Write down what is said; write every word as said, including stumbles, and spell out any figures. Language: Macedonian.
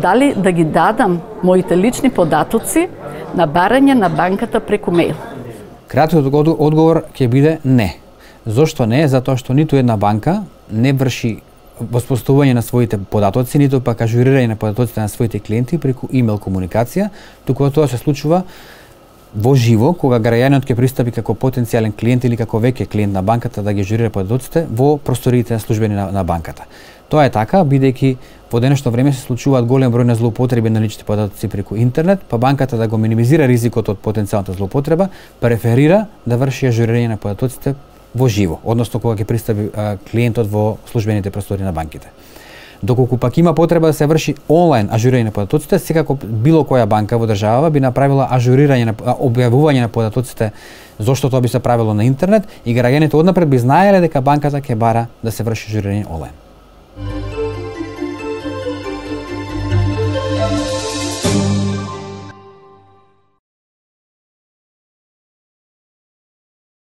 дали да ги дадам моите лични податоци на барање на банката преку мејл? Краткиот одговор ќе биде не. Зошто не? Затоа што ниту една банка не врши воспоставување на своите податоци, ниту пак ажурирање на податоците на своите клиенти преку имејл комуникација, туку тоа се случува во живо, кога граѓанинот ќе пристапи како потенцијален клиент или како веќе клиент на банката да ги ажурира податоците во просториите на службени на, на банката. Тоа е така, бидејќи во денешно време се случуваат голем број на злоупотреби на личните податоци преку интернет, па банката да го минимизира ризикот од потенцијалната злоупотреба, преферира да врши ажурирање на податоците во живо, односно кога ќе пристапи а, клиентот во службените простори на банките. Доколку пак има потреба да се врши онлайн ажурирање на податоците, секако било која банка во државава би направила ажурирање на објавување на податоците, зошто тоа би се правило на интернет и граѓаните однапред би знаеле дека банката ќе бара да се врши ажурирање онлайн.